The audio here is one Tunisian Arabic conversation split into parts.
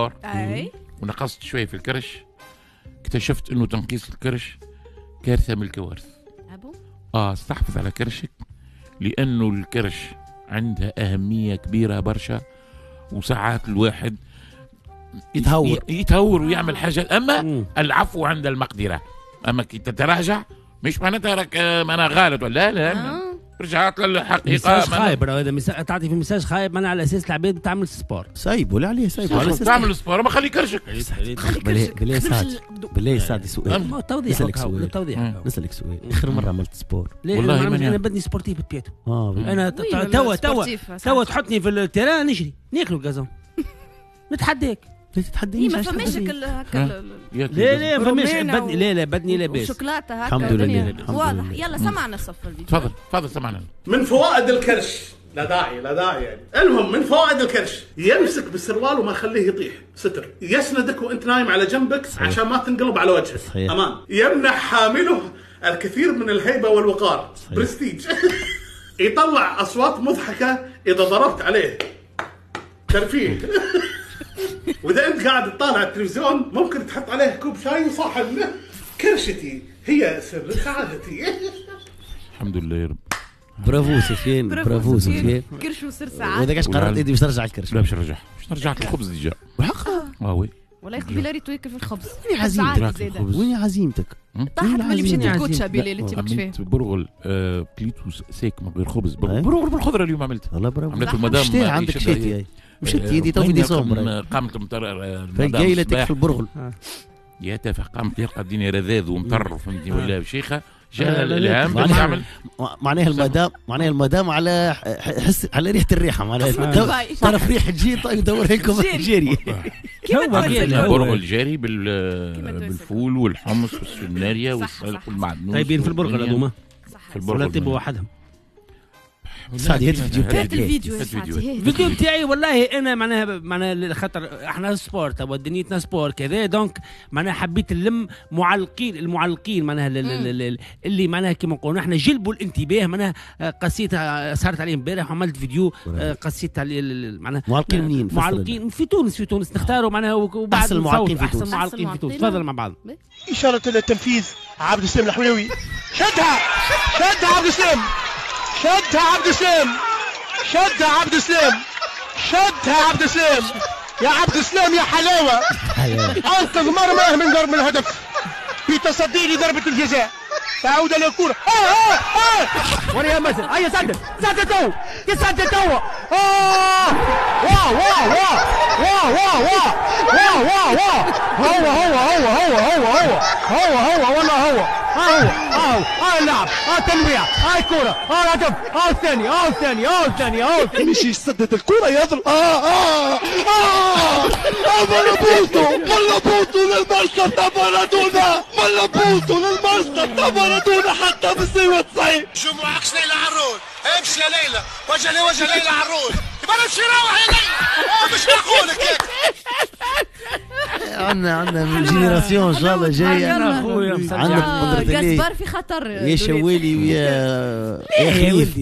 sport ونقصت شوية في الكرش، اكتشفت انه تنقيص الكرش كارثة من الكوارث. استحفظ على كرشك، لانه الكرش عندها اهمية كبيرة برشا، وساعات الواحد يتهور ويعمل حاجة. اما العفو عند المقدرة، اما كي تتراجع مش معناتها راك انا غلط ولا لا، رجعت للحقيقة. message خايب هذا، تعطي في message خايب معناها على اساس العباد تعمل sport. سايب ولا عليه سايب على اساس تعمل sport، ما خلي كرشك. بالله سعد، بالله سعد سؤال، توضيح توضيح، نسألك سؤال. اخر مرة عملت sport؟ والله انا بدني sportif بطبيعته. انا توا توا توا تحطني في ال terrain نجري ناكلوا ال gazon، نتحداك. تتحديني؟ ما فماش هكا. لا لا فماش، بدني لا لا بدني لاباس شوكولاتة هكا الحمد لله واضح. يلا سمعنا صف الفيديو. تفضل تفضل سمعنا. من فوائد الكرش، لا داعي لا داعي يعني. المهم من فوائد الكرش يمسك بالسروال وما يخليه يطيح، ستر، يسندك وانت نايم على جنبك عشان ما تنقلب على وجهك. صحيح. امان. يمنح حامله الكثير من الهيبة والوقار. صحيح. برستيج. يطلع اصوات مضحكة اذا ضربت عليه، ترفيه. واذا انت قاعد تطالع التلفزيون ممكن تحط عليه كوب شاي وصحن. كرشتي هي سر سعادتي. الحمد لله يا رب. برافو سفيان، برافو سفيان. كرش وسر سعادة. وهذاك اش قررت انت باش ترجع الكرش؟ لا باش نرجع، باش نرجع الخبز déjà. وحقا oui والله قبيلة ريتو ياكل في الخبز. وين عزيمتك؟ وين عزيمتك؟ طاحت ملي مشيت الكوتشا بلال انت ماكش فاهم. عملت برغل كليتو sec من غير خبز، برغل بالخضره اليوم عملت. والله برافو. عملت المدام عندك شتي مشيت يدي تو في ديسمبر قامت المطر جاي تكفي البرغل. يا تافه، قامت يلقى الدنيا رذاذ ومطر فهمتني ولا شيخه، جاها الالهام باش تعمل. معناها المدام، معناها المدام على حس على ريحه الريحة، معناها تعرف ريحه تجي يدور لكم جاري. برغل جاري بالفول والحمص والسناريا والسلق والمعدنوس. طيبين في البرغل هذوما؟ في البرغل ولا طيبوا وحدهم؟ سعدي هات الفيديو تاعك. الفيديو الفيديو بتاعي والله انا معناها خاطر احنا sport توا دنيتنا sport كذا، donc معناها حبيت نلم معلقين، المعلقين معناها اللي معناها كيما نقولوا احنا جلبوا الانتباه. معناها قصيت سهرت عليهم امبارح وعملت فيديو قصيت على معناها معلقين منين؟ معلقين في تونس، في تونس نختاروا معناها وبعد احسن معلقين في تونس، احسن معلقين في تونس. تفضل مع بعض. اشارة التنفيذ عبد السلام الحويوي، شدها شدها عبد السلام، شدها عبد السلام، شدها عبد السلام، شدها عبد السلام، يا عبد السلام يا حلاوة. انقذ مرماه من ضرب الهدف في تصدي لضربه الجزاء. تعود الكره. وريها مثل، هيا سدد سدد تو، يسدد تو. واو واو واو واو واو واو واو واو، هو هو هو هو هو هو هو هو والله هو هو هو. اللعب، التنويع، الكرة، الهدف، الثاني الثاني الثاني الثاني. مش يسدد الكرة يضرب. ملا بوتو، ملا بوتو للمرسى تاع مارادونا، ملا بوتو للمرسى تاع مارادونا حتى في السيوة 90. شو معكش ليلى عرون، امشي يا ليلى، وجه لي وجه ليلى عرون، يبقى امشي روح يا ليلى، مش معقول هيك. عندنا génération ان شاء الله جاية. عندك قدرة الله في خطر يا شوالي ويا خليف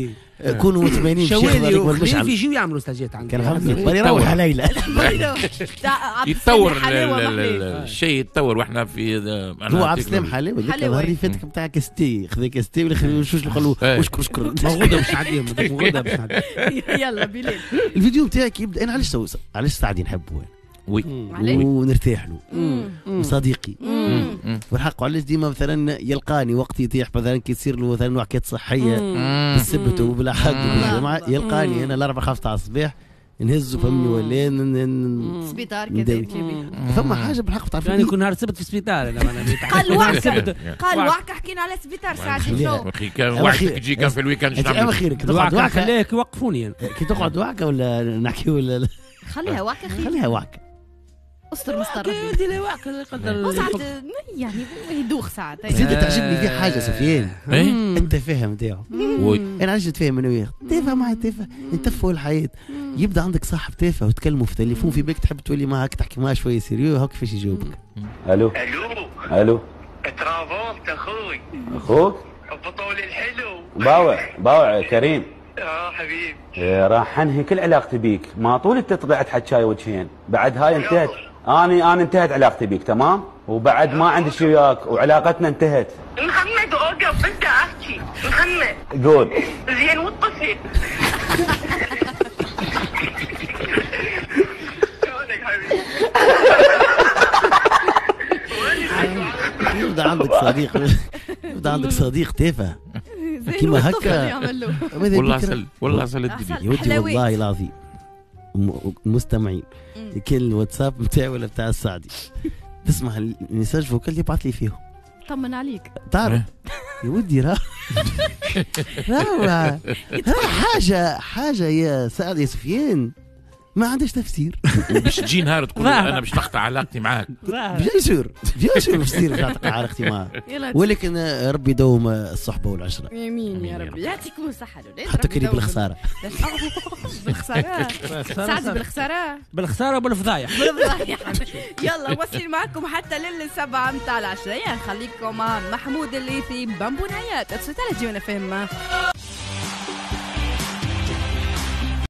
كونوا مطمئنين. شوالي وخليف يجيو يعملوا ستاجات عندك. كان فهمتني يروح ليلى. يتطور الشيء، يتطور واحنا في هو عبد السلام حلاوة النهار اللي فاتك نتاع كاستي، خذا كاستي ولا شوش قالوا اشكر اشكر. موجودة باش نعديهم، موجودة باش نعديهم. يلا بلال الفيديو نتاعك يبدا. انا علاش سعدي نحبه oui ونرتاح له وصديقي والحق. علاش ديما مثلا يلقاني وقت يطيح مثلا كي تصير له مثلا وعكات صحية بالسبت وبالاحد وبالجمعه يلقاني انا الاربعة 5 تاع الصباح نهزه فهمني ولا سبيطار كذا. فما حاجة بالحق تعرف يعني كل نهار السبت في السبيطار. قال وعكه، قال وعكه، حكينا على سبيطار ساعات شنو اخي كان وعكتك تجي كان في ال week-end. اما خيرك تقعد وعكه خليك يوقفوني كي تقعد وعكه ولا نحكي ولا خليها وعكه، خليها وعكه. استر مستر ربي لا وعكه يقدر ساعات يعني يدوخ ساعات. زيد تعجبني فيه حاجة سفيان، التفاهة نتاعو. انا علاش نتفاهم انا وياه؟ تافه مع تافه، نتفهوا الحياة. يبدا عندك صاحب تافه وتكلموا في التليفون في بالك تحب تولي معاك تحكي معاه شوية sérieux، هاك كيفاش يجاوبك. الو الو الو ترافولت اخوي. اخوك؟ بطولي الحلو. باوع باوع كريم. حبيبي راح انهي كل علاقتي بيك، ما طول انت طلعت حكاية وجهين، بعد هاي انتهت. انا انتهت علاقتي بيك تمام، وبعد ما عندي شيء وياك وعلاقتنا انتهت. محمد اوقف انت احكي محمد. قول زين والطفل. شلونك حبيبي؟ يبدا عندك صديق، يبدا عندك صديق تافه كيما هكا. والله عسل، والله عسل الدنيا يا ودي والله العظيم. المستمعين كان الواتساب نتاعي ولا بتاع السعدي تسمع ال message vocal يبعث لي فيهم طمن عليك تعرف يا ودي راه راه حاجة يا سعد يا سفيان ما عندهاش تفسير. باش تجي نهار تقول انا باش نقطع علاقتي معاك. bien sûr bien sûr باش تصير باش نقطع علاقتي معاك، ولكن ربي يدوم الصحبة والعشرة. امين يا ربي، يعطيكم الصحة الاولاد. حتى كريم بالخساره. بالخساره سعد، بالخساره بالخساره وبالفضايح. يلا واصلين معكم حتى للسبعه نتاع العشريه. نخليكم مع محمود الليثي بامبونايات. تصوت على جيونا فهم.